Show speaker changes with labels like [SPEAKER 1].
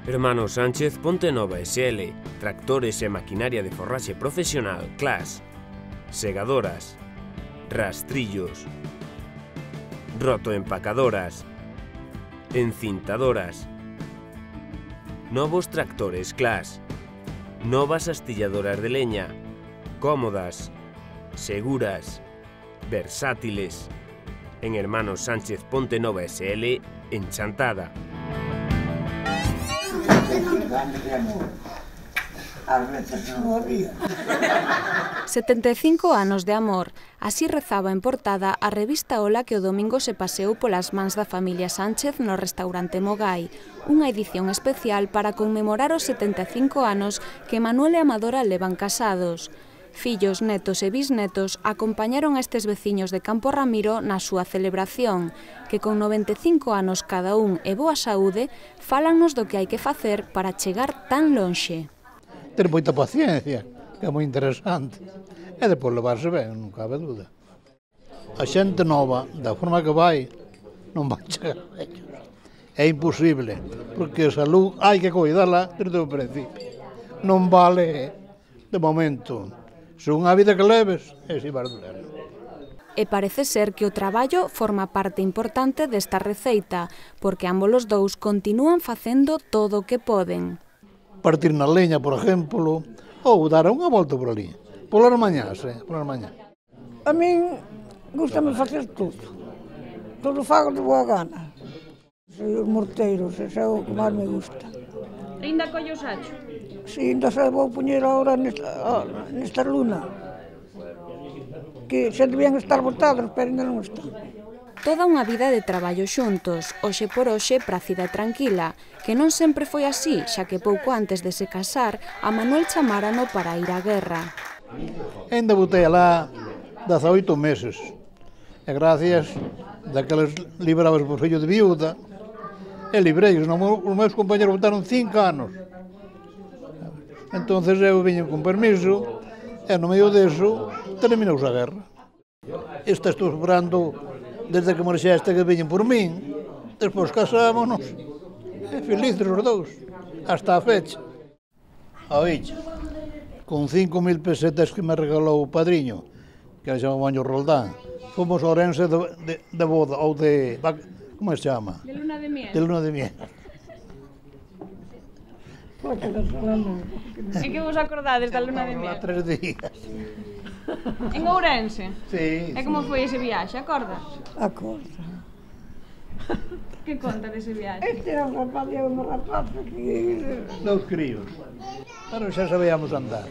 [SPEAKER 1] Hermanos Sánchez Ponte Nova SL, tractores e maquinaria de forraxe profesional, CLAS, segadoras, rastrillos, rotoempacadoras, encintadoras, novos tractores CLAS, novas astilladoras de leña, cómodas, seguras, versátiles. En Hermanos Sánchez Ponte Nova SL, en Chantada.
[SPEAKER 2] 75 anos de amor, así rezaba en portada a revista Ola que o domingo se paseou polas mans da familia Sánchez no restaurante Mogai, unha edición especial para conmemorar os 75 anos que Manuel e Amadora levan casados. Fillos, netos e bisnetos acompañaron a estes veciños de Campo Ramiro na súa celebración, que con 95 anos cada un e boa saúde, fálannos do que hai que facer para chegar tan lonxe.
[SPEAKER 3] Ter moita paciencia, que é moi interesante, e depois levarse ben, non cabe dúda. A xente nova, da forma que vai, non vai chegar a ellos. É imposible, porque a salud hai que cuidarla desde o principio. Non vale, de momento, se unha vida que leves, é si vas durar.
[SPEAKER 2] E parece ser que o traballo forma parte importante desta receita, porque ambos os dous continúan facendo todo o que poden.
[SPEAKER 3] Partir na leña, por exemplo, ou dar unha volta por ali. Polas mañás, polas mañás.
[SPEAKER 4] A min gustame facer todo. Todo fago de boa gana. Sei os morteiros, ese é o que máis me gusta.
[SPEAKER 2] Ainda collo sacho?
[SPEAKER 4] Si, ainda se vou poñer agora nesta luna. Que se debían estar botados, pero ainda non están.
[SPEAKER 2] Toda unha vida de traballo xuntos, hoxe por hoxe prácida e tranquila, que non sempre foi así, xa que pouco antes de se casar, a Manuel chamárano para ir á guerra.
[SPEAKER 3] Ainda botei alá 18 meses, e gracias daqueles librabas por fillo de viúda, e librei, os meus compañeros botaron 5 anos. Entonces eu viño con permiso, e no medio deso terminouse a guerra. Esta estou esperando desde que marxeste que viñen por min, despois casámonos, e felices os dous, hasta a fecha. Oíche, con 5.000 pesetas que me regalou o padriño, que se chama Maño Roldán, fomos a Ourense de boda, ou de... como se chama?
[SPEAKER 2] De luna de miel.
[SPEAKER 3] De luna de miel.
[SPEAKER 2] E que vos acordades da luna de miel?
[SPEAKER 3] 3 días.
[SPEAKER 2] En Ourense?
[SPEAKER 3] Sí.
[SPEAKER 2] E como foi ese viaxe, acordas?
[SPEAKER 4] Acorda.
[SPEAKER 2] Que conta dese viaxe?
[SPEAKER 4] Este era un rapaz e unha rapaza que...
[SPEAKER 3] Dos críos. Pero xa sabíamos andar.